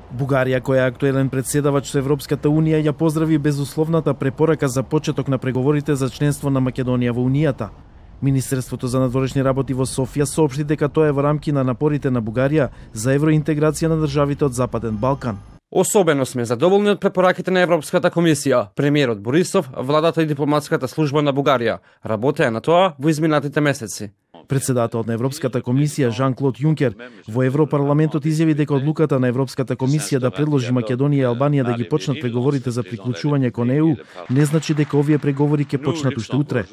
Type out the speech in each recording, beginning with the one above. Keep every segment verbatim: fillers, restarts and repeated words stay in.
Бугарија, која е актуелен председавач со Европската Унија, ја поздрави безусловната препорака за почеток на преговорите за членство на Македонија во Унијата. Министерството за надворешни работи во Софија соопшти дека тоа е во рамки на напорите на Бугарија за евроинтеграција на државите од Западен Балкан. Особено сме задоволни од препораките на Европската комисија. Премиерот Борисов, владата и дипломатската служба на Бугарија работеа на тоа во изминатите месеци. Председателот на Европската комисија Жан-Клод Јункер во Европарламентот изјави дека одлуката на Европската комисија да предложи Македонија и Албанија да ги почнат преговорите за приклучување кон Е У не значи дека овие преговори ќе почнат уште утре.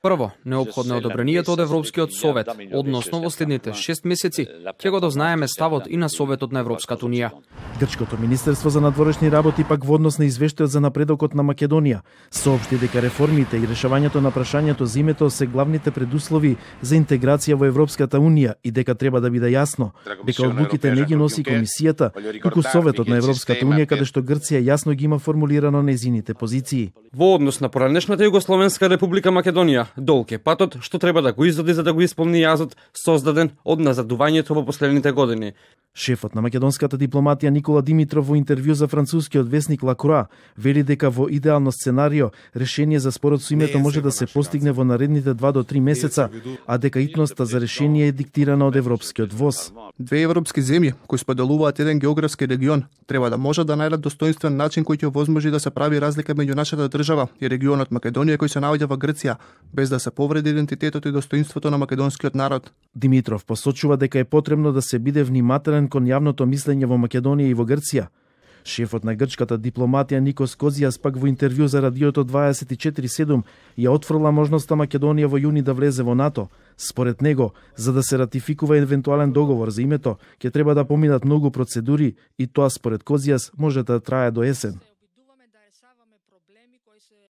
Прво, неопходно е одобрението од Европскиот совет, односно во следните шест месеци ќе го дознаеме ставот и на Советот на Европската Унија. Грчкото министерство за надворешни работи пак во однос на извештајот за напредокот на Македонија соопшти дека реформите и решавањето на прашањето за името се главните предуслови за интеграција во Европската Унија и дека треба да биде јасно дека одлуките не ги носи комисијата, туку Советот на Европската Унија, каде што Грција јасно ги има формулирано нејзините позиции. Во однос на поранешната Југословенска република Македонија, долг е патот што треба да го изоди за да го исполни јазот создаден од назадувањето во последните години. Шефот на македонската дипломатија Никола Димитров во интервју за францускиот весник Ла Круа вели дека во идеално сценарио решение за спорот со името може да се постигне во наредните два до три месеца, а дека итноста за решение е диктирана од европскиот ВОЗ. Две европски земји кои споделуваат еден географски регион треба да можат да најдат достоинствен начин кој ќе овозможи да се прави разлика меѓу нашата држава и регионот Македонија кој се наоѓа во Грција, без да се повреди идентитетот и достоинството на македонскиот народ. Димитров посочува дека е потребно да се биде внимателен кон јавното мислење во Македонија и во Грција. Шефот на грчката дипломатија Никос Козијас пак во интервју за радиото дваесет и четири седум ја отфрла можноста Македонија во јуни да влезе во НАТО. Според него, за да се ратификува евентуален договор за името, ќе треба да поминат многу процедури и тоа според Козијас може да трае до есен.